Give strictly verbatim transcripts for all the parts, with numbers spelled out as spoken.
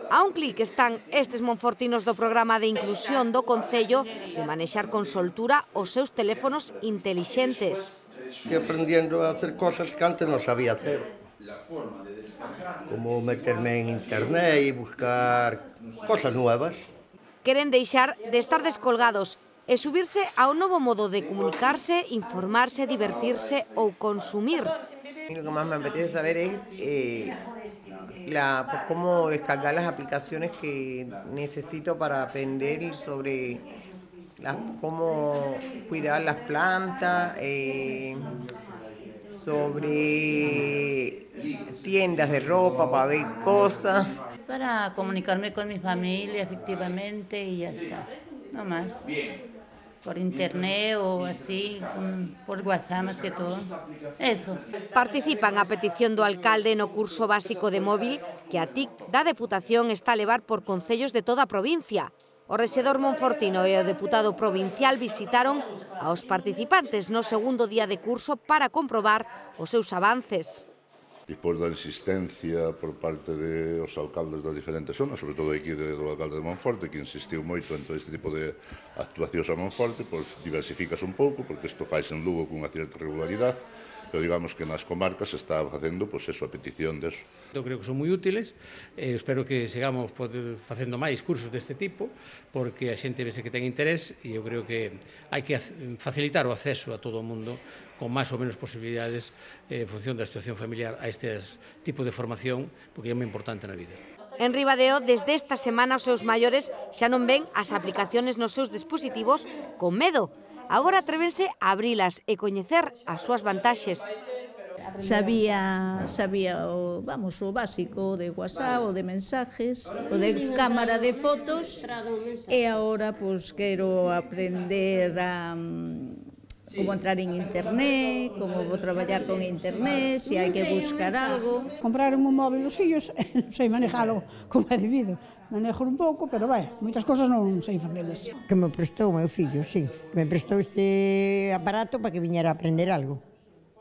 A un clic están estes monfortinos do programa de inclusión do Concello de manexar con soltura os seus teléfonos intelixentes. Estoy aprendiendo a hacer cosas que antes no sabía hacer, como meterme en internet y buscar cosas nuevas. Queren deixar de estar descolgados e subirse a un novo modo de comunicarse, informarse, divertirse ou consumir. Lo que más me apetece saber es eh, la, pues, cómo descargar las aplicaciones que necesito para aprender sobre la, cómo cuidar las plantas, eh, sobre tiendas de ropa para ver cosas. Para comunicarme con mi familia, efectivamente, y ya está, no más. Por internet o así, por WhatsApp más que todo. Eso. Participan a petición do alcalde no curso básico de móvil que a T I C da Deputación está a levar por concellos de toda a provincia. O rexedor monfortino e o deputado provincial visitaron aos participantes no segundo día de curso para comprobar os seus avances. Despois da insistencia por parte dos alcaldes das diferentes zonas, sobre todo aquí do alcalde de Monforte, que insistiu moito en todo este tipo de actuacións a Monforte, pois diversificas un pouco, porque isto faz en Lugo cunha certa regularidade, pero digamos que nas comarcas se está facendo pois eso, a petición deso. Eu creo que son moi útiles, e espero que sigamos facendo máis cursos deste tipo, porque a xente vese que ten interés e eu creo que hai que facilitar o acceso a todo o mundo con máis ou menos posibilidades en función da situación familiar a este tipo de formación, porque é moi importante na vida. En Ribadeo, desde esta semana, os seus maiores xa non ven as aplicaciones nos seus dispositivos con medo. Agora atrévense a abrilas e coñecer as súas vantaxes. Sabía, sabía o, vamos, o básico de WhatsApp, o de mensajes, o de cámara de fotos, e agora pois quero aprender a como entrar en internet, como vou traballar con internet, se hai que buscar algo. Compraron un móvil os fillos, non sei manejalo como é debido. Manejo un pouco, pero vai, moitas cosas non sei facelas. Que me prestou o meu fillo, sí. Que me prestou este aparato para que viñera a aprender algo.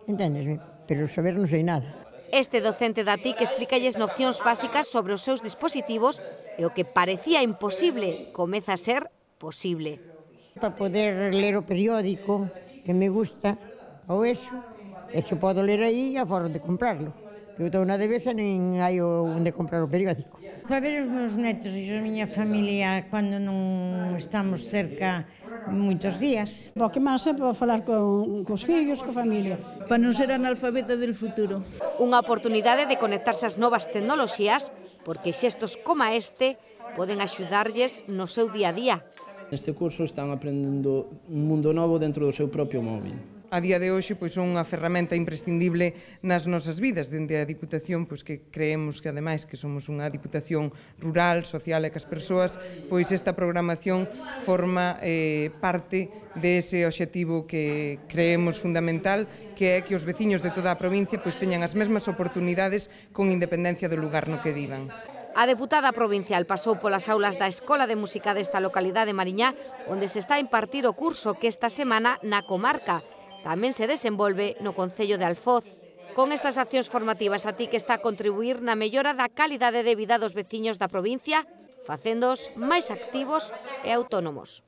Entendesme? Pero saber non sei nada. Este docente da T I C explícalles nocións básicas sobre os seus dispositivos e o que parecía imposible comeza a ser posible. Para poder ler o periódico, que me gusta, ou eso, eso podo ler aí a fora de comprarlo. Eu estou na devesa, nin hai onde comprar o periódico. Para ver os meus netos e a miña familia cando non estamos cerca moitos días. O que máis é para falar con, cos fillos, coa familia. Para non ser analfabeta del futuro. Unha oportunidade de conectarse ás novas tecnoloxías, porque xestos como este poden axudarlles no seu día a día. Neste curso están aprendendo un mundo novo dentro do seu propio móvil. A día de hoxe pois son unha ferramenta imprescindible nas nosas vidas. Dende a Diputación pois que creemos que ademais que somos unha Diputación rural, social e que as persoas pois esta programación forma eh, parte dese obxectivo que creemos fundamental, que é que os veciños de toda a provincia pois teñan as mesmas oportunidades con independencia do lugar no que vivan. A deputada provincial pasou polas aulas da Escola de Música desta localidade Mariñá, onde se está a impartir o curso que esta semana na comarca tamén se desenvolve no concello de Alfoz. Con estas accións formativas a T I C está a contribuir na mellora da calidade de vida dos veciños da provincia, facéndoos máis activos e autónomos.